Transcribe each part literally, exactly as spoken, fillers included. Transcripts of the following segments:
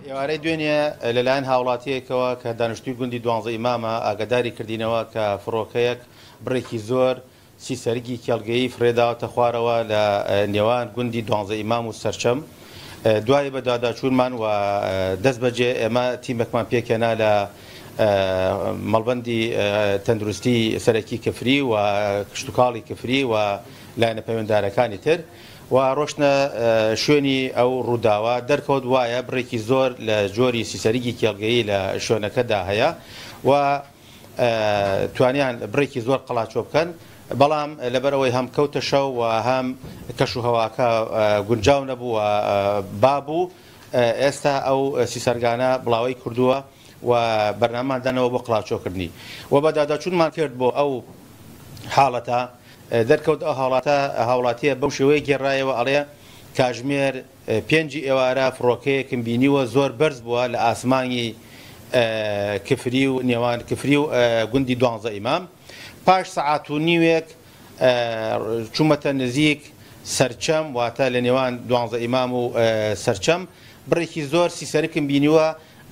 ئێوارەی دوێنێ لەلایەن هاوڵاتیەکەوە کە دانیشتووی گوندی دوانزە ئیمامە ئاگاداری کردینەوە کە فڕۆکەیەک بڕێکی زۆر سیسەرگی کێڵگەیی فرێداوەتە خوارەوە لە نێوان گوندی دوانزە ئیمام و سەرچەم. دوای بەدواداچوونمان و دەست بەجێ ئێمە تیمێکمان پێکهێنا لە مەڵبەندی تەندروستی سەرەکی کفری و کشتوکاڵی کفری و لایەنە پەیوەنددارەکانی تر و ڕۆشتنە شوێنی ئەو ڕووداوە. دەرکەوت وایە بڕێکی زۆر لە جۆری سیسەرگی کێڵگەیی لە شوێنەکەدا هەیە و توانیان بڕێکی زۆر قەڵاچۆ بکەن، بەڵام لەبەرەوەی هەم کەوتە شەو و هەم کەش و هەواکە گونجاو نەبوو و بابوو، ئێستا ئەو سیسەرگانە بڵاوەی کردووە و بەرنامان دانەوە بۆ قڵاچۆکردنی و بەداداچوونمان کرد بۆ ئەو حاڵەتە. دەرکەوت ئەو حاڵەتە هاوڵاتیە بەو شێوەیە گێڕایەوە، ئەڵێ کاژمێر پێنجی ئێوارە فڕۆکەیەکم بینیوە زۆر بەرز بووە لە ئاسمانی کفری و نێوان کفری و گوندی دوانزە ئیمام. پاش سەعات و نیوێک چوومەتە نزیک سەرچەم، واتە لە نێوان دوانزە ئیمام و سەرچەم، بڕێکی زۆر سیسەرکم بینیوە.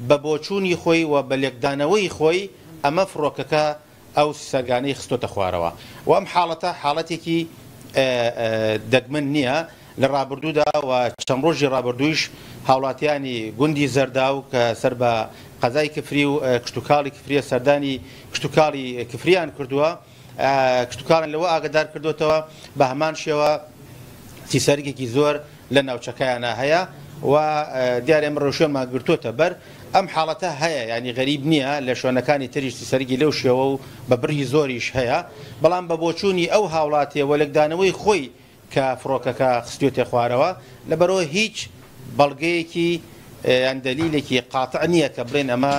بە بۆچوونی خۆی و بە لێکدانەوەی خۆی ئەمە فڕۆکەکە ئەو سیسەرگانەی خستۆتە خوارەوە. و ئەم حاڵەتە حاڵەتێکی دەگمەن نییە. لە ڕابردوودا و چەند ڕۆژی ڕابردوویش هاوڵاتیانی گوندی زەرداو کە سەر بە قەزای کفری و کشتوکاڵی کفریە سەردانی کشتوکاڵی کفریان کردووە، کشتوکاڵیان لەوە ئاگادار کردوتەوە بە هەمان شێوە سیسەرگێکی زۆر لە ناوچەکەیانە هەیە و دیارە ئێمە ڕێوشوێنمان گرتووەتە بەر. ئەم حاڵەتە هەیە، ینی غەریب نییە، لە شوێنەکانی تریش سیسەرگی لەو شێوە و بە بڕی زۆریش هەیە، بەڵام بە بۆچوونی ئەو هاوڵاتیە وەلێکدانەوەی خۆی کە فڕۆکەکە خستوێتە خوارەوە، لەبەرەوە هیچ بەڵگەیەکی یان دەلیلێکی قاتع نییە کە بڵێن ئەمە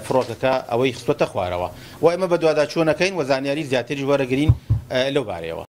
فڕۆکەکە ئەوەی خستوەتە خوارەوە. و ئێمە بەدواداچوونەکەین و زانیاری زیاتریش وەرەگرین لەو بارەیەوە.